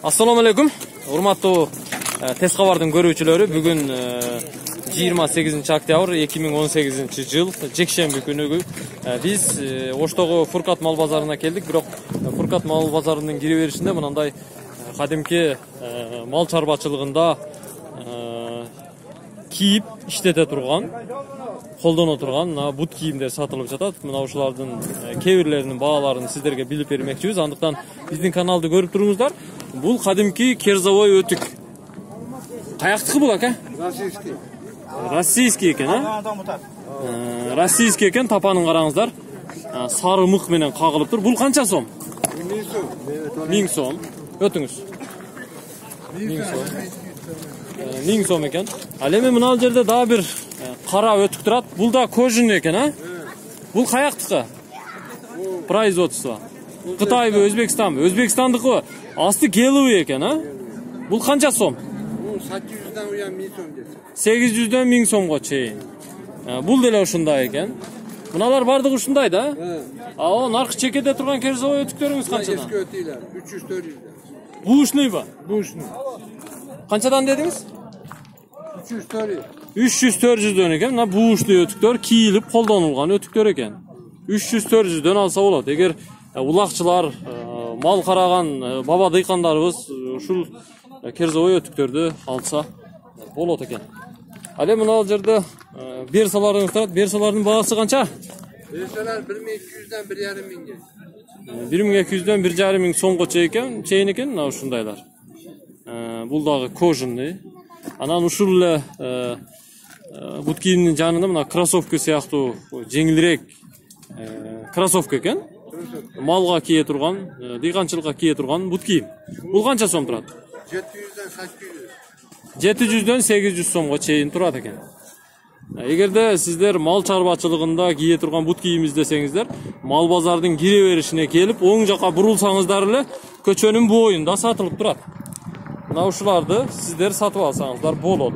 Assalomu alaykum. Урматтуу Тез кабардын көрүүчүлөрү, бүгүн 28 октябрь 2018 жыл жекшемби күнү биз Оштогу Фуркат мал базарына келдик. Бирок Фуркат мал базарынын кире беришинде мындай кадимки мал чарбачылыгында кийип иштете турган, колдоно турган бут кийимдер сатылып жатат. Мына ушулардын кээ бирлеринин бааларын сиздерге билип бермекчибиз. Андыктан биздин каналды көрүп туруңуздар. Бул кадимки керзовой өтүк. Каяктыкы бул ака? Российский. Российский экен, а? Российский экен, тапанын караңыздар. Сары мык менен кагылып тур. Бул канча сом? 1000 сом. 1000 сом. Өтүңүз. 1000 сом. 1000 сом экен. Ал эми мына жерде дагы бир кара өтүк турат. Бул да кожаный экен, а? Бул каяктыкы? Производство. Кытайбы, Өзбекстанбы? Өзбекстандыкы. Асты келуй экен, а? Бул канча сом? 800'dan uyan 1000 сом десе. 800'дөн 1000 сомго чейин. Бул деле ушундай экен. Мыналар бардыгы ушундай да? О, наркы чекеде турган керзовой өтүктөрүңүз канчадан? Эски өтүйлөр 300-400'дөн. Бушнуйбы? Бушнуй. Канчадан дедиңиз? 300-400. 300-400'дөн экен. Мына бушнуй өтүктөр кийилип колдонулган өтүктөр экен. 300-400'дөн алса болот. Эгер улакчылар, мал караган баба дыйкандарыбыз ушул керзовой өтүктөрдү алса болот экен. Ал эми мына жерде берсаларыңыз турат. Берсалардын баасы канча? Берсалар 1200'dan 1500'ge. 1200'дөн 1500 сомго чейин экен мына ушундайлар. Бул дагы кожаный. Анан ушул эле бут кийимдин жанында мына кроссовка сыяктуу жеңилирээк кроссовка экен. Малга кие турган, дыйканчылыкка кие турган бут кийим. Бул канча сом турат? 700'dan 800. 700'дөн 800 сомго чейин турат экен. Эгерде сиздер мал чарбачылыгында кие турган бут кийим издесеңиздер, мал базардын кире беришине келип, оң жака бурулсаңыздар эле көчөнүн боюнда сатылып турат. Мына ушуларды сиздер сатып алсаңыздар болот.